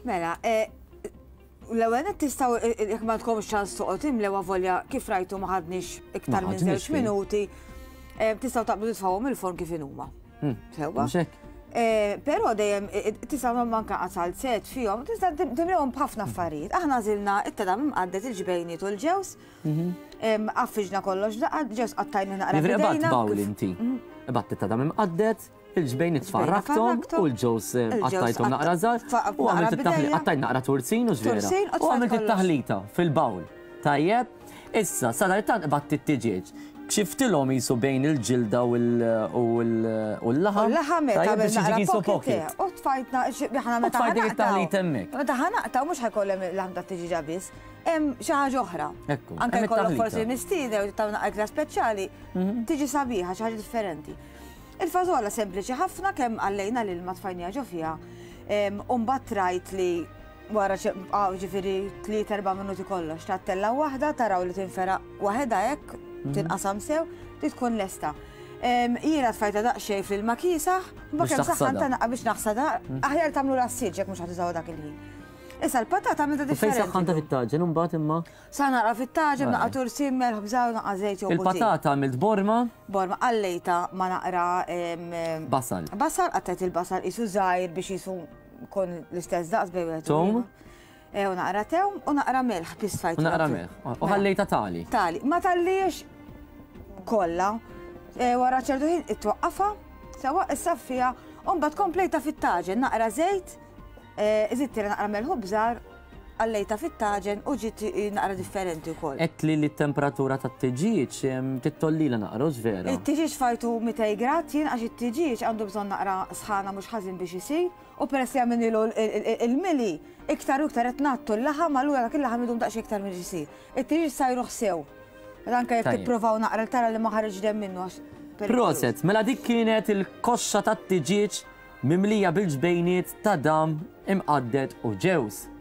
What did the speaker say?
Mela, eh, l-ewwel nett tistgħu eh, eh, jekk ma tkomx ċans toqgħod imlew avolja kif rajtu ma ħadniex iktar minn żewġ minuti, tistgħu taqbdu titfgħuhom il-forn kif inhuma. Hmm. Sewwa? Però dejjem tistgħu manka qasal set fihom, tista' timlewhom b'ħafna affarijiet. Aħna żilna it-tadam imqaddet il-ġbejniet u l-ġews. Mhm. Għaffiġna kollox daqqa, ġews qattajna naqra. Ibat bawl inti. Mhm. Ibat it-tadam imqaddet, Il-ġbejn itfarrakthom u l-ġewż eh, qattajthom naqra żgħar u għamilt it-taħlita qattajt naqra turzin u żvera. U għamilt it-taħlita fil-bawl. Tajjeb, issa sadanittant qbadt it-tiġieġ. Kxiftilhom jisu bejn il-ġilda u l-laħam. L-laħam tajjeb biex jiġi jisu pocket. U tfajtna aħna meta Tfajt dik it-taħlita hemmhekk. Meta ħanaqta mhux ħajkollem il-laħam tat-tiġieġa biss. Hemm xi ħaġa oħra. Anke jkollok forsi mistieden u tagħmel naqra speċjali, mhm. tiġi sabiħa xi ħaġa differenti. Il-fażola sempliċi ħafna kemm għallejna l-ilma tfajniha ġo fiha. U mbagħad rajt li wara ġifieri tliet erba' minuti kollox tattella waħda taraw li tinferaq waħedha hekk mhm. tinqasam sew li tkun lesta. Jiena tfajta daqsxejn fl-ilma kiesaħ, ma kemm saħħan ta' biex naħsada, mhm. aħjar tagħmlu l-assiġ jekk mhux ħatużaw dak il-ħin. Issa l-patata għamilta differenti. Fejn saħħanta fit-taġen imbagħad imma? Sa naqra fit-taġen, naqra tursin, melħ, bżar, naqra żejt jew Il-patata għamilt borma? Borma, qallejta ma naqra. Basal. Basal, qattajt il-basal qisu żgħir biex qisu jkun l-istess daqs bejn wieħed u Tewm? Eh, u naqra tewm u naqra melħ biss tfajt. U naqra melħ. U ħallejta tali. Tali. Ma talliex kollha. Eh, wara ċertu ħin itwaqqafha, sewa issaffija, u mbagħad komplejta fit-taġen naqra żejt, eh, iżidtilha naqra melħ u bżar Għallejtha fit-taġen u ġiet naqra differenti wkoll. Għedtli li t-temperatura tat-tiġieġ tittollilha naqra, hux vera? It-tiġieġ fajtu 200 grad jien għax it-tiġieġ għandu bżonn naqra sħana mhux ħażin biex isir u peress li għamilnilu l-mili iktar u iktar qed ngħattu l-laħam allura dak il-laħam idum daqsxejn iktar milli jsir. It-tiġieġ sajruh sew. Anke jekk tipprovaw naqra tara li ma ħariġx demm minnu għax perikoluż. Proset, mela dik kienet il-koxxa tat-tiġieġ mimlija bil-ġbejniet ta' dam imqadded u ġewż.